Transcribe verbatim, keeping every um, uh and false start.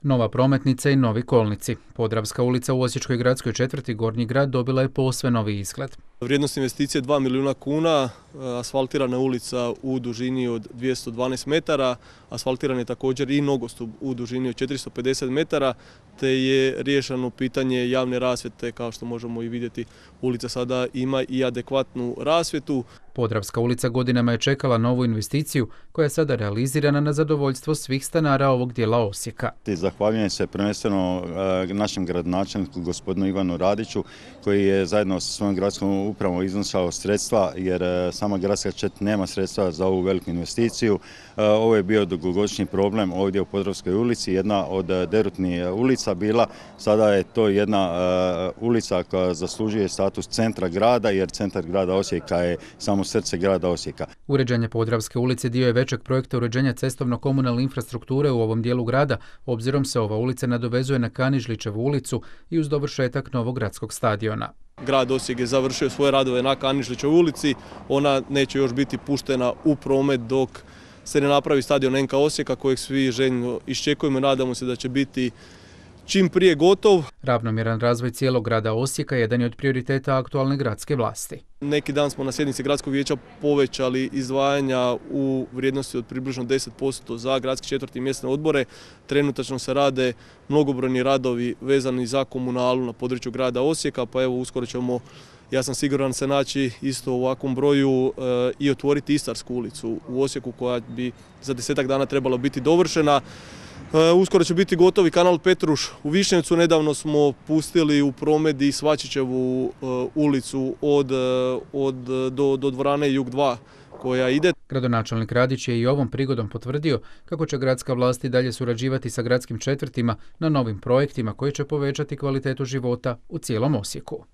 Nova prometnica i novi kolnici. Podravska ulica u Osječkoj gradskoj četvrti Gornji grad dobila je posve novi izgled. Vrijednost investicije dva milijuna kuna, asfaltirana ulica u dužini od dvjesto dvanaest metara, asfaltiran je također i nogostup u dužini od četiristo pedeset metara, te je riješeno pitanje javne rasvjete. Kao što možemo i vidjeti, ulica sada ima i adekvatnu rasvjetu. Podravska ulica godinama je čekala novu investiciju koja je sada realizirana na zadovoljstvo svih stanara ovog dijela Osijeka. Zahvaljujem se prvenstveno našem gradonačelniku gospodinu Ivanu Radiću koji je zajedno sa svojom gradskom upravom iznosao sredstva jer sama gradska čet nema sredstva za ovu veliku investiciju. Ovo je bio dugogodišnji problem ovdje u Podravskoj ulici, jedna od derutnih ulica bila. Sada je to jedna ulica koja zaslužuje status centra grada jer centar grada Osijeka je samo srce grada Osijeka. Uređenje Podravske ulice dio je većeg projekta uređenja cestovno-komunalne infrastrukture u ovom dijelu grada, obzirom se ova ulica nadovezuje na Kanižlićevu ulicu i uz dovršetak novog gradskog stadiona. Grad Osijek je završio svoje radove na Kanižlićevoj ulici, ona neće još biti puštena u promet dok se ne napravi stadion en ka Osijeka kojeg svi željno iščekujemo i nadamo se da će biti čim prije gotov. Ravnomjeran razvoj cijelog grada Osijeka jedan je od prioriteta aktualne gradske vlasti. Neki dan smo na sjednici gradskog vijeća povećali izdvajanja u vrijednosti od približno deset posto za gradski četvrti mjesne odbore. Trenutačno se rade mnogobrojni radovi vezani za komunalu na području grada Osijeka, pa evo uskoro ćemo, ja sam siguran, se naći isto u ovakvom broju e, i otvoriti Istarsku ulicu u Osijeku koja bi za desetak dana trebala biti dovršena. Uskoro će biti gotovi kanal Petruš u Višnjevcu. Nedavno smo pustili u promet i Svačićevu ulicu od, od, do, do dvorane Jug dva koja ide. Gradonačelnik Radić je i ovom prigodom potvrdio kako će gradska vlast i dalje surađivati sa gradskim četvrtima na novim projektima koji će povećati kvalitetu života u cijelom Osijeku.